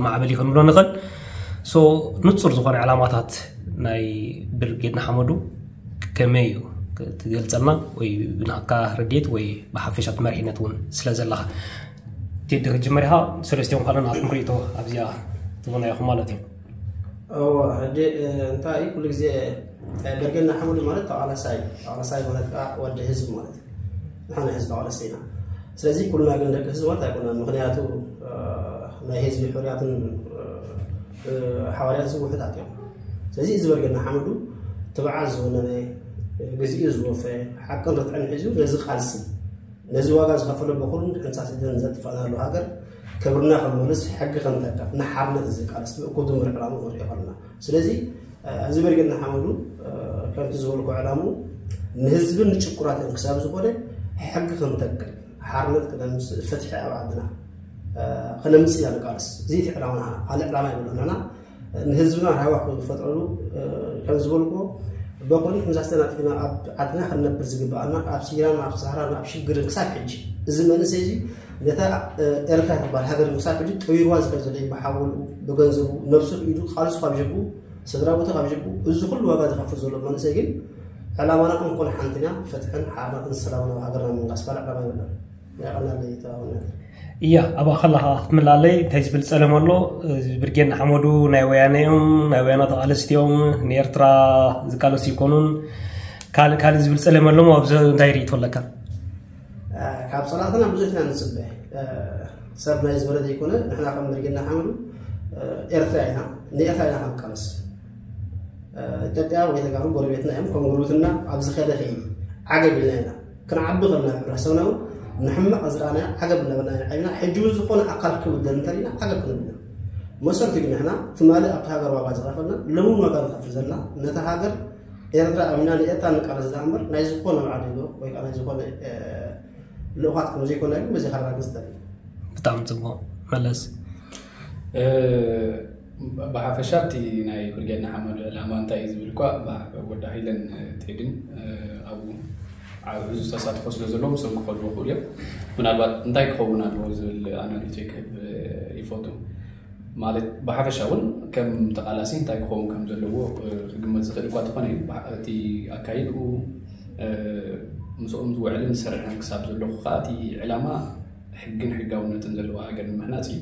ማዕበል እዩ ክንብሎ ንኽእል። ንፁር ዝኾነ ዕላማታት ናይ ብርጌድ ንሓመዱ ከመይ እዩ ትገልፀልና ወይ ብናካ ረድኤት ወይ ብሓፈሻ መሪሕነት እውን ስለ ዘለኻ ቴዲ ክትጅምር ኢኻ። ሰለስቲኦም ካልእ ናትኩም ርእይቶ ኣብዚኣ ትህቡና ኢኹም ማለት እዩ። እወ ሕጂ እንታይ እዩ ኩሉ ግዜ ብርጌድ ንሓመዱ ማለት ተቓላሳይ ተቓላሳይ ማለት ከዓ ወዲ ህዝቢ ማለት እዩ። ንሕና ህዝቢ ተቓለስቲ ኢና። ስለዚ ኩልና ግን ደቂ ህዝቢ ማለት ኣይኮነን። ምክንያቱ ናይ ህዝቢ ሕርያትን ሓዋርያት ህዝቢ ውሕዳት እዮም። ስለዚ እዚ ብርጌድ ንሓመዱ ትብዓት ዝወነነ ግዚኡ ዝወፈ ሓቅን ርትዕን ሒዙ ነዚ ቃልሲ ነዚ ዋጋ ዝኸፈለ በኩሉን ሕንሳት ኢደን ዘጥፋእናሉ ሃገር ክብርና ክንመልስ፣ ሕጊ ክንተካ፣ ንሓርነት ዝቃለስ ምእኩብ ድምር ዕላማ ንሪኦ ኣለና። ስለዚ እዚ ብርጌድ ንሓመዱ ከምቲ ዝበልኩ ዕላሙ ንህዝብን ንጭቁናትን ክሳብ ዝኾነ ሕጊ ክንተክል፣ ሓርነት ክነምፅእ፣ ፍትሒ ኣብ ዓድና ክነምፅእ ኢና ንቃለስ። እዚ እቲ ዕላማና፣ ካልእ ዕላማ የብሉና። ንህዝብና ራህዋ ክፈጥረሉ ከም ዝበልኩ በኩሉ ሕንሳት ተናጢፍና ኣብ ዓድና ክንነብር ዝግባኣና፣ ኣብ ሲራን ኣብ ሳህራን ኣብ ሽግርን ክሳብ ሕጂ እዚ መንእሰይ እዚ ነታ ኤርትራ ትበሃል ሃገር ክሳብ ሕጂ ጠዊርዋ ዝኸድ ዘሎ እዩ። ብሓወሉ፣ ብገንዘቡ፣ ነብሱ ኢዱ ቃልሱ ካብ ጀብኡ፣ ስድራ ቤቱ ካብ ጀብኡ፣ እዚ ኩሉ ዋጋ ዝኸፍል ዘሎ መንእሰይ ግን ዕላማና እንኮን ሓንቲና፣ ፍትሕን ሓርነትን ሰላምን ኣብ ሃገርና ምንጋስ፣ ካልእ ዕላማ የብልናን። የቐናለይ ተባባልና። እያ፣ ኣብኣ ከለኻ ክትምላለይ እንታይ ዝብል ጸለም ኣሎ? እዚ ብርጌድ ንሓመዱ ናይ ወያነ እዮም፣ ናይ ወያነ ተቓለስቲ እዮም፣ ንኤርትራ ዝቃለሱ ይኮኑን፣ ካልእ ካልእ ዝብል ጸለም ኣለሞ? ኣብዚ እንታይ ርእይቶ ኣለካ? ካብ ጸላእትና ብዙሕ ኢና ንጽበ። ሰብ ናይ ዝበለ ዘይኮነ፣ ንሕና ከም ብርጌድ ንሓመዱ ኤርትራ ኢና፣ ንኤርትራ ኢና ክንቃለስ። ኢትዮጵያ ወይ ተጋሩ ጎረቤትና እዮም። ከም ጉርብትና ኣብዚ ከደ ከይዲ ዓገብ ኢልና ኢና ክንዓቢ ከለና፣ ሕብረተሰብና እውን ንሕማቕ ዝረኣናዮ ዓገብ እናበልና ኢና ዓቢና። ሕጂ እውን ዝኾነ ኣካል ክብደል እንተሪእና ዓገብ ክንብል ኢና። መሰረቱ ግን ንሕና ትማሊ ኣብቲ ሃገር ዋጋ ዝኸፈልና፣ ሎሚ እውን ዋጋ ንኸፍል ዘለና፣ ነታ ሃገር ኤርትራ ኣሚና ንኤርትራ ንቃለስ ዝኣ እምበር ናይ ዝኾነ በዓል ዶ ወይ ከዓ ናይ ዝኾነ ልኡኻት ከም ዘይኮና ግን በዚ ከረጋግጽ ደሊ። ብጣዕሚ ጽቡቕ መለስ። ብሓፈሻ እቲ ናይ ብርጌድ ንሓመዱ ዕላማ እንታይ እዩ ዝብል እኳ ወዲ ሃይለን ቴድን ኣብኡ ብዙ ተሳትፎ ስለ ዘለዎ ምስኦም ክኸዱ ይኽእሉ እዮም። ምናልባት እንታይ ክኸውን ኣለዎ ዝብል ኣናሪቶ ክህብ ይፈቱ። ማለት ብሓፈሻ እውን ከም ተቓላሲ እንታይ ክኸውን ከም ዘለዎ ክግመት ዝኽእል እኳ ተኾነ፣ እቲ ኣካይድኡ ምስኦም ዝውዕልን ዝሰርሕን ክሳብ ዘለኹ ከዓ እቲ ዕላማ ሕግን ሕጋውነትን ዘለዋ ሃገር ንምህናፅ እዩ።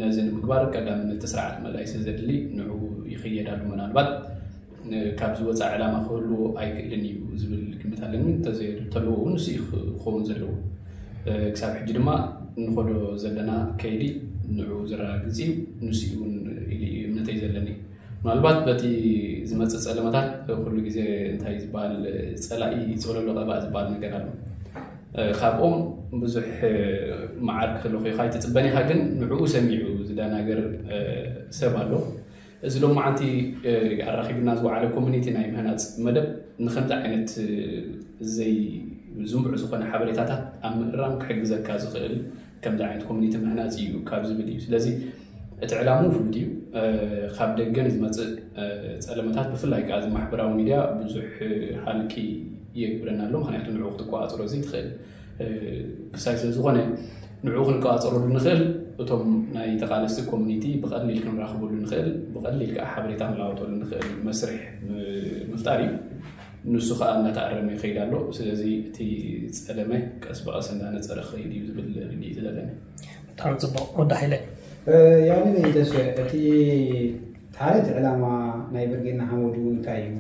ነዚ ንምግባር ቀዳምነት እቲ ስርዓት መላኢሰ ዘድሊ ንዑ ይኽየድ ኣሎ። ምናልባት ካብዚ ወፃኢ ዕላማ ክህልዎ ኣይክእልን እዩ ዝብል ግምት ኣለኒ። እንተዘየተልዎ እውን ንሱ እዩ ክኸውን ዘለዎ። ክሳብ ሕጂ ድማ እንኸዶ ዘለና ከይዲ ንዑ ዘረጋግፅ እዩ። ንሱ እውን ኢሉ እዩ እምነተይ ዘለኒ። ምናልባት በቲ ዝመፅእ ፀለመታት ኩሉ ግዜ እንታይ ዝበሃል ፀላኢ ፀለሎ ቀባእ ዝበሃል ነገር ኣሎ። ካብኦም ብዙሕ መዓር ክህልኽ ኢኻ ኣይትፅበን ኢኻ፣ ግን ንዕኡ ሰሚዑ ዝደናገር ሰብ ኣሎ። እዚ ሎማዓንቲ ኣራኺብና ዝወዓለ ኮሚኒቲ ናይ ምህናፅ መደብ ንከምዚ ዓይነት ዘይ ዝንቡዕ ዝኾነ ሓበሬታታት ኣብ ምእራም ክሕግዘካ ዝኽእል ከምዚ ዓይነት ኮሚኒቲ ምህናፅ እዩ ካብ ዝብል እዩ። ስለዚ እቲ ዕላምኡ ፍሉጥ እዩ። ካብ ደገ ንዝመፅእ ፀለመታት ብፍላይ ከዓ እዚ ማሕበራዊ ሚድያ ብዙሕ ሃልኪ የግብረና ኣሎ። ምክንያቱ ንዕኡ ክትቆፃፀሮ ዘይትኽእል ክሳይ ስለ ዝኾነ ንዕኡ ክንቆፃፀረሉ ንኽእል እቶም ናይ ተቓለስቲ ኮሚኒቲ ብቐሊል ክንራኽበሉ ንኽእል፣ ብቐሊል ከዓ ሓበሬታ ክንለዋወጠሉ ንኽእል መስርሕ ምፍጣር እዩ። ንሱ ከዓ እናተኣረመ ይኸይድ ኣሎ። ስለዚ እቲ ፀለመ ቀስ ብቐስ እንዳነፀረ ክኸይድ እዩ ዝብል ርድኢት ዘለኒ። ብጣዕሚ ፅቡቕ ወዲ ሓይለ። ያኒ ተስፈ እቲ ሓደ እቲ ዕላማ ናይ ብርጌድ ንሓመዱ እንታይ እዩ?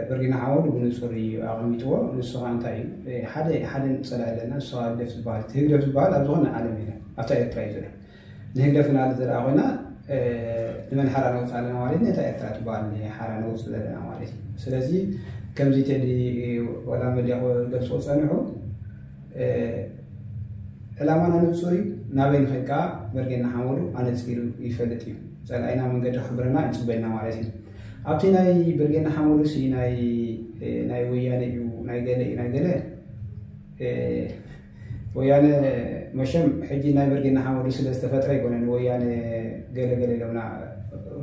ብርጌድ ንሓመዱ ብንፁር እዩ ኣቐሚጥዎ። ንሱ ከዓ እንታይ እዩ? ሓደ ሓደ ፀላኢ ኣለና። ንሱ ከዓ ህግደፍ ዝበሃል፣ ህግደፍ ዝበሃል ኣብ ዝኾነ ዓለም የለን፣ ኣብታ ኤርትራ እዩ ዘሎ። ንህግደፍ እናለ ዘርኣ ኮይና ንመን ሓራ ነውፅእ ኣለና ማለት ነታ ኤርትራ ትበሃል ሓራ ነውፅእ ዘለና ማለት እዩ። ስለዚ ከምዚ ቴዲ ወላ መድያ ክገልፅዎ ፀንሑ፣ ዕላማና ንፁር እዩ። ናበይ ንኸይድ ከዓ ብርጌድ ንሓመዱ ኣነፂሩ ይፈልጥ እዩ። ፀላኢና መንገዲ ክሕብረና ይፅበየና ማለት እዩ። ኣብቲ ናይ ብርጌድ ንሓመዱ ሲ ናይ ናይ ወያነ እዩ፣ ናይ ገለ እዩ፣ ናይ ገለ ወያነ መሸም ሕጂ ናይ ብርጌድ ንሓመዱ ስለ ዝተፈጥረ ይኮነ ንወያነ ገለ ገለ ኢሎምና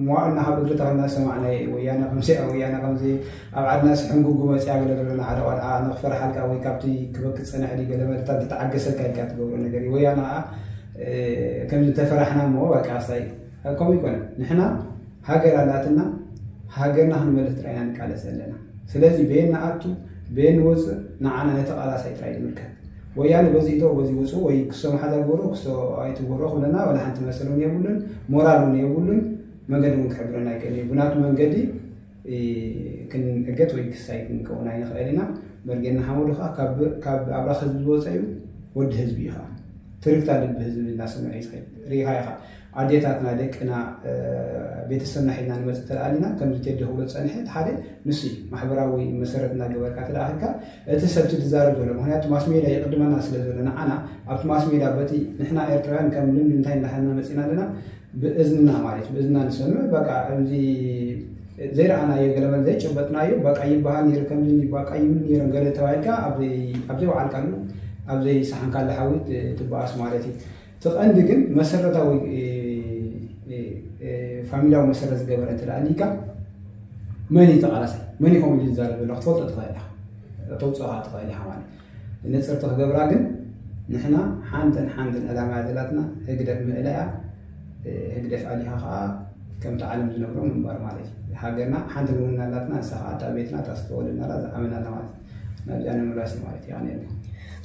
መዋእልና ካብ እግሪ ተኸልና ዝሰማዕናዮ እዩ። ወያነ ከምዚ ወያነ ከምዚ ኣብ ዓድና ስሕንጉጉ መፅያ ገለ ገለና ሓደ ቆልዓ ንክፈርሓልካ ወይ ካብቲ ክበክ ፀንሕ ድዩ ገለ መለታ እንተተዓገሰልካ ኢልካ ትገብሮ ነገር እዩ። ወያነ ከዓ ከምዚ ተፈራሕና እሞ በቃ ኣስታይ ከምኡ ይኮነ። ንሕና ሃገር ኣላትና፣ ሃገርና ክንመልስ ጥራይና ንቃለስ ዘለና። ስለዚ በየን ንኣቱ በየን ንወፅእ ንዓና ነቲ ቃላሳይ ጥራይ ንምልከት። ወያነ በዚ እቶ በዚ ውፁ ወይ ክሶ መሓዛ ግበሮ ክሶ ኣይትግበሮ ክብለና ወላ ሓንቲ መሰል እውን የብሉን፣ ሞራል እውን የብሉን። መንገዲ እውን ክሕብረና ኣይክእልን እዩ። ብናቱ መንገዲ ክንእገት ወይ ክሳይ ክንከውን ኣይንኽእል ኢና። መርጌና ሓመዱ ከዓ ካብ ኣብራኽ ህዝቢ ዝወፀ እዩ፣ ወዲ ህዝቢ እዩ ከዓ። ትርክታ ልቢ ህዝቢ እናሰምዐ እዩ ዝኸይድ። ርኢኻ ኢኻ። ኣዴታትና፣ ደቅና፣ ቤተሰብና ሒዝና ንመፅእ ተለኣሊና ከምዚ ቴዲ ክብሎ ዝፀንሐ እቲ ሓደ ንሱ እዩ። ማሕበራዊ መሰረት እናገበርካ ተለኣኺልካ እቲ ሰብቲ ዝዛረብ ዘሎ፣ ምክንያቱ ማስ ሜድያ ይቕድመና ስለ ዘሎ ንዓና ኣብቲ ማስ ሜድያ በቲ ንሕና ኤርትራውያን ከም ልምዲ እንታይ እንዳሓና መፂና ኣለና፣ ብእዝንና ማለት ብእዝንና ንሰምዕ በቃ እዚ ዘይረኣናዮ ገለመለ ዘይጨበጥናዮ በቃ ይበሃል ነይሩ ከምዚ በቃ ይብሉ ነይሮም ገለ ተባሂልካ ኣብ ዘይወዓልካሉ ኣብ ዘይሰሓንካሉ ሓዊ ትበኣስ ማለት እዩ። እቲ ቀንዲ ግን መሰረታዊ ፋሚላዊ መሰረት ዝገበረ እንተ ኣሊካ መን እዩ ተቃላሳይ መን እዩ ከምኡ ዝዛረብ ዘሎ ክትፈልጦ ትኽእል ኢኻ ተውፅኦካ ትኽእል ኢኻ ማለት ንፅርቲ ክገብራ ግን ንሕና ሓንትን ሓንትን ዕላማ ዘላትና ህግደፍ ምእላያ ህግደፍ ኣሊኻ ከዓ ከምቲ ዓለም ዝነብሮ ምንባር ማለት እዩ። ሃገርና ሓንቲ ንውና ኣላትና ንሳ ከዓ እታ ቤትና እታ ዝተወለድናላ ዝዓበናላ ማለት እዩ። ናብዚኣ ንምምላስ እዩ ማለት እዩ። ኣነ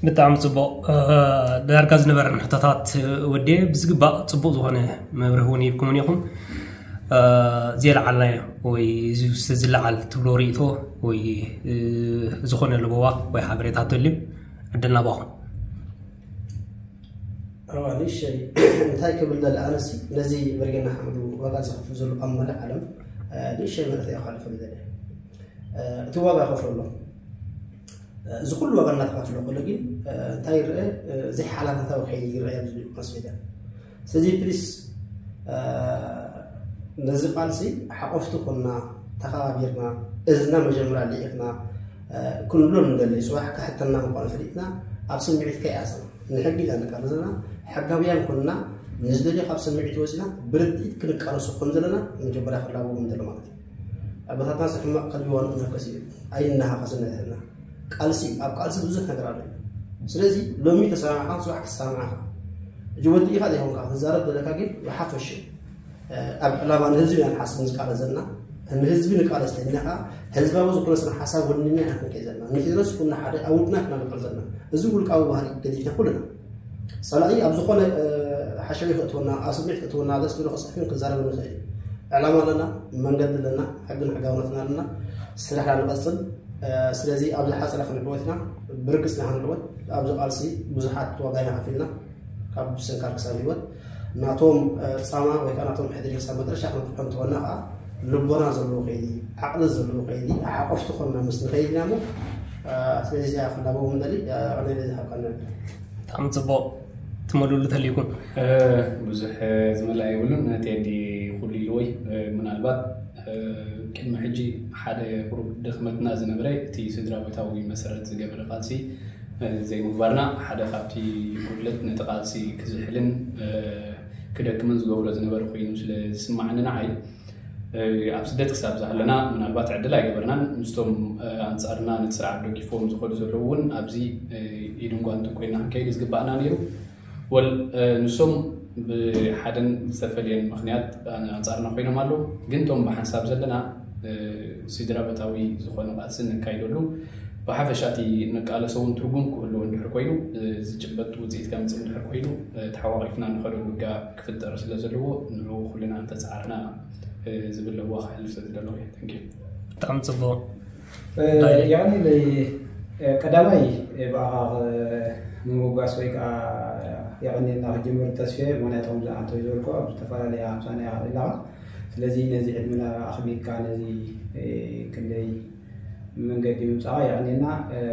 ብጣዕሚ ፅቡቅ ዳርጋ ዝነበረን ሕቶታት ወዴ ብዝግባእ ፅቡቅ ዝኾነ መብርህ እውን ይብኩምን ኢኹም። ዝየለዓልናዮ ወይ ዝለዓል ትብሎ ርእቶ ወይ ዝኾነ ለበዋ ወይ ሓበሬታ ተልዩ ዕድል ናባኹም። እዋ ንእሸይ እንታይ ክብል ደለ ኣነሲ ነዚ በርጌና ሓምዱ ዋጋ ዝኸፍል ዘሎ ኣብ መላእ ዓለም ንእሸይ መልእኽቲ እየ ክሓልፈሉ ደለ። እቲ ዋጋ ከፍሎ ኣሎ። እዚ ኩሉ ዋጋ እናተኸፍሎ ከሎ ግን እንታይ ይረአ? ዘይሓላፍነታዊ ከይዲ ይረአ ኣብዚ ማስ ሜድያ። ስለዚ ፕሊስ ነዚ ቃልሲ ሓቆፍቲ ኮና ተኸባቢርና እዝና መጀመርያ ልኢኽና ክንብሎ ንደሊ። ፅባሕ ክሕተና ምኳኑ ፈሊጥና ኣብ ስምዒት ከይኣሰና ንሕጊ ኢና ንቃለስ ዘለና። ሕጋውያን ኮንና ንዝደልዮ ካብ ስምዒት ወፂና ብርድኢት ክንቃለሶ ከም ዘለና መጀመርያ ክላቦ ምንደሎ ማለት እዩ። ኣቦታትና ሕማቕ ከልቢ ዋንኡ መርከሲ እዩ። ኣይናሃኸስን ንሕና ቃልሲ ኣብ ቃልሲ ብዙሕ ነገር ኣሎ። ስለዚ ሎሚ ተሰማማዕካ ፅባሕ ክሰማማዕካ ሕጂ ወዲ ኢኻ ዘይኮንካ ትዛረብ ዘለካ ግን ብሓፈሽ ኣብ ዕላማ ንህዝቢ ኢና ንሓስብ ንቃለስ ዘለና። ንህዝቢ ንቃለስ ተልና ከዓ ህዝባዊ ዝኾነ ስነ ሓሳብ ወኒና ኢና ክንከይ ዘለና። ንፊደረስ ኩና ሓደ ኣብ ውድና ክናንቀል ዘለና። እዚ ውልቃዊ ባህሪ ገዲፍና ኩልና ጸላኢ ኣብ ዝኾነ ሓሸዊ ክእትወና ኣብ ስምዒት ክእትወና ደስ ዝብሎ ክፅሕፍን ክዛረብን ንኽእል እዩ። ዕላማ ኣለና፣ መንገዲ ኣለና፣ ሕግን ሕጋውነትን ኣለና። ስራሕና ንቐፅል። ስለዚ ኣብ ዝሓፀረ ክንዕወት ኢና፣ ብርግፅ ኢና ክንዕወት። ኣብዚ ቃልሲ ብዙሓት ዋጋ ኢና ከፊልና ካብ ስንካር ክሳብ ህይወት ናቶም ፃማ ወይ ከዓ ናቶም ሕድሪ ክሳብ መጨረሻ ክንፅሑ እንተኾና ከዓ ልቦና ዘለዎ ከይዲ ዓቕሊ ዘለዎ ከይዲ ሓቆፍቲ ኮንና ምስ ንኸይድ ኢና እሞ ስለዚ እዚኣ ክላበው ምንደሊ ዕድል ዝሃብካና። ብጣዕሚ ፅቡቕ ትመልእሉ ተልይኩም። ብዙሕ ዝመልኣ የብሉን። ቴዲ ኩሉ ኢልዎ እዩ። ምናልባት ቅድሚ ሕጂ ሓደ ቁሩብ ድኽመትና ዝነበረ እቲ ስድራ ቤታዊ መሰረት ዝገበረ ቃልሲ ዘይምግባርና ሓደ ካብቲ ጉድለት ነቲ ቃልሲ ክዝሕልን ክደክምን ዝገብሮ ዝነበረ ኮይኑ ስለ ዝስማዓኒ ንዓይ ኣብ ስደት ክሳብ ዝሃለና ምናልባት ዕድል ኣይገበርናን። ምስቶም ኣንፃርና ነቲ ስርዓት ደጊፎም ዝኸዱ ዘለዉ እውን ኣብዚ ኢድን ጓንትን ኮይና ክንከይድ ዝግባኣና ነይሩ። ወል ንሶም ብሓደን ዝተፈለየን ምኽንያት ኣንፃርና ኮይኖም ኣለዉ። ግን እቶም ብሓንሳብ ዘለና ስድራ ቤታዊ ዝኾነ ቃልሲ ነካይደሉ ብሓፈሻ እቲ ንቃለሶ እውን ትርጉም ክህልዎ እንድሕር ኮይኑ ዝጭበጥ ውፅኢት ከምፅእ እንድሕር ኮይኑ ተሓቋቂፍና ንኸደሉ ውጋ ክፍጠር ስለ ዘለዎ ንዑ ኩልና እንተፀዓርና ዝብል ለዋ ክሕልፍ ስለ ዝደለኹ እየ። Thank you። ብጣዕሚ ፅቡቕ። ያኒ ቀዳማይ ብኣኻ ንምውጋስ ወይ ከዓ የቐኒልና ክጅምር ተስፌ ምክንያቶም ዝኣንተው ዝበልኮ ኣብ ዝተፈላለየ ሃምሳና ኣለኻ። ስለዚ ነዚ ዕድምና ኣኽቢርካ ነዚ ክንደይ መንገዲ ምምፃእካ የቐኒልና።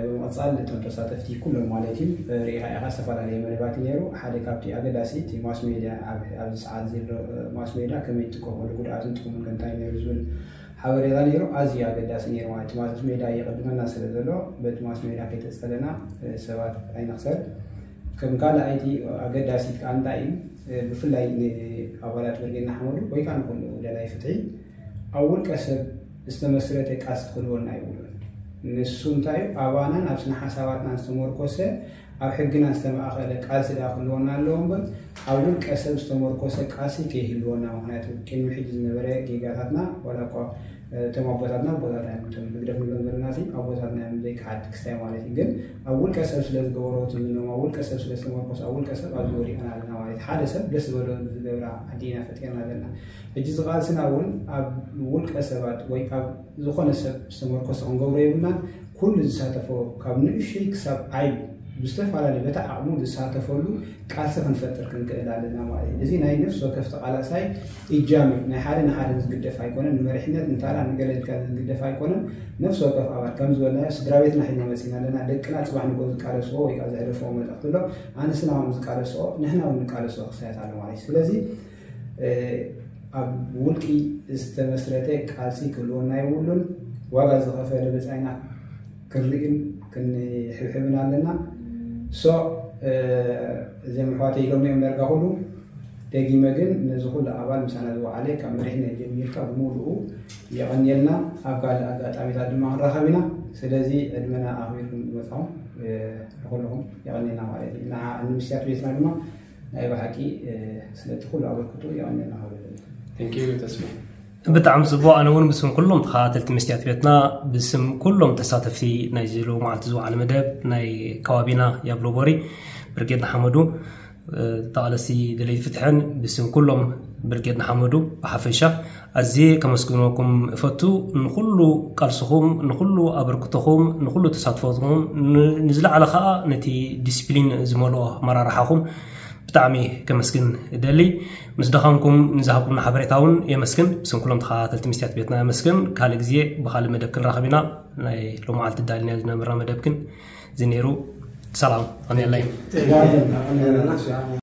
ብምቕፃል እቶም ተሳተፍቲ ኩሎም ማለት እዩ ርኢኻ ኢኻ ዝተፈላለየ መደባት እዩ ነይሩ። ሓደ ካብቲ ኣገዳሲ እቲ ማስ ሜድያ ኣብዚ ሰዓት ዘሎ ማስ ሜድያ ከመይ ትጥቀመሉ ጉድኣትን ጥቕሙን ከ እንታይ ነይሩ ዝብል ሓበሬታ ነይሩ። ኣዝዩ ኣገዳሲ ነይሩ ማለት እዩ። ማስ ሜድያ ይቕድመና ስለ ዘሎ በቲ ማስ ሜድያ ከይተፀለና ሰባት ኣይንኽሰር። ከም ካልኣይቲ ኣገዳሲት ከዓ እንታይ እዩ ብፍላይ ንኣባላት ብርጌድ ንሓመዱ ወይ ከዓ ንኩሉ ደላይ ፍትሒ ኣብ ውልቀ ሰብ ዝተመስረተ ቃልሲ ክህልወና የብሉን። ንሱ እንታይ እዩ ኣባናን ኣብ ስነ ሓሳባትናን ዝተመርኮሰ ኣብ ሕግና ዝተማእኸለ ቃልሲ ደኣ ክህልወና ኣለዎ እምበር ኣብ ውልቀ ሰብ ዝተመርኮሰ ቃልሲ ከይህልወና። ምክንያቱ ቅድሚ ሕጂ ዝነበረ ጌጋታትና ዋላ እኳ እቶም ኣቦታትና ኣቦታትና እዮም እቶም ህግደፍ ንብሎም ዘለና ሲ ኣቦታትና እዮም ዘይከሓድ ክስታይ ማለት እዩ። ግን ኣብ ውልቀ ሰብ ስለ ዝገበሮ ትዝኖም ኣብ ውልቀ ሰብ ስለ ዝተመርኮሰ ኣብ ውልቀ ሰብ ኣብዚ ወዲቕና ኣለና ማለት ሓደ ሰብ ደስ ዝበሎ ዝገብራ ዓዲ ኢና ፈጢርና ዘለና። ሕጂ ዝቃልስና እውን ኣብ ውልቀ ሰባት ወይ ኣብ ዝኾነ ሰብ ዝተመርኮሰ ክንገብሮ የብልናን። ኩሉ ዝሳተፎ ካብ ንእሽይ ክሳብ ዓይ ብዝተፈላለዩ በታ ዓቕሙ ዝሳተፈሉ ቃልሲ ክንፈጥር ክንክእል ኣለና ማለት እዩ። እዚ ናይ ነፍሲ ወከፍ ተቓላሳይ እጃም እዩ። ናይ ሓደ ንሓደ ዝግደፍ ኣይኮነን። ንመሪሕነት እንታላ ንገለ ኢልካ ዝግደፍ ኣይኮነን። ነፍሲ ወከፍ ኣባል ከም ዝበልናዮ ስድራ ቤትና ሒና መፂና ኣለና። ደቅና ፅባሕ ንጎ ዝቃለስዎ ወይ ከዓ ዘሕለፍዎ መልእኽቲ ኣሎ። ኣንስና ከም ዝቃለስኦ ንሕና እውን ንቃለስኦ ክሳያት ኣሎ ማለት እዩ። ስለዚ ኣብ ውልቂ ዝተመስረተ ቃልሲ ክህልወና የብሉን። ዋጋ ዝኸፈለ ብፃይና ክንርእን ክንሕብሕብን ኣለና። ሶ እዚም ኣሕዋተይ ኢሎም እዮም ዳርጋ ኩሉ። ደጊመ ግን ነዚ ኩሉ ኣባል ምሳና ዝወዓለ ካብ መሪሕነት ጀሚርካ ብምሉኡ የቐንየልና። ኣብ ካልእ ኣጋጣሚታት ድማ ክንራኸብ ኢና። ስለዚ ዕድመና ኣኽቢርኩም ዝመፃኹም ንኩልኹም የቐንየልና ማለት እዩ። ንዓ ንምስያት ቤትና ድማ ናይ ብሓቂ ስለቲ ኩሉ ኣበርክቶ የቐንየልና ክብል እደሊ። ብጣዕሚ ፅቡቅ። ኣነ እውን ብስም ኩሎም ተኸታተልቲ መስትያት ቤትና፣ ብስም ኩሎም ተሳተፍቲ ናይዚ ሎማዓልቲ ዝወዓለ መደብ ናይ ከባቢና ያብሎቦሪ ብርጌድ ንሓመዱ ተቓለስቲ ደለይቲ ፍትሕን ብስም ኩሎም ብርጌድ ንሓመዱ ብሓፈሻ ኣዝየ ከመስግነኩም እፈቱ። ንኩሉ ቃልስኹም፣ ንኩሉ ኣበርክቶኹም፣ ንኩሉ ተሳትፎኹም፣ ንዝለዓለ ከዓ ነቲ ዲስፕሊን ዝመልኦ ኣመራርሓኹም ብጣዕሚ ከመስግን እደሊ። ምስ ደኸምኩም ንዝሃብኩምና ሓበሬታ እውን የመስግን። ብስም ኩሎም ተኸታተልቲ መስትያት ቤትና የመስግን። ካልእ ግዜ ብኻልእ መደብ ክንራኸብ ኢና። ናይ ሎማዓልቲ ዳልናዮ ዝነበርና መደብ ግን እዚ ነይሩ። ሰላም፣ ቀንየለይ።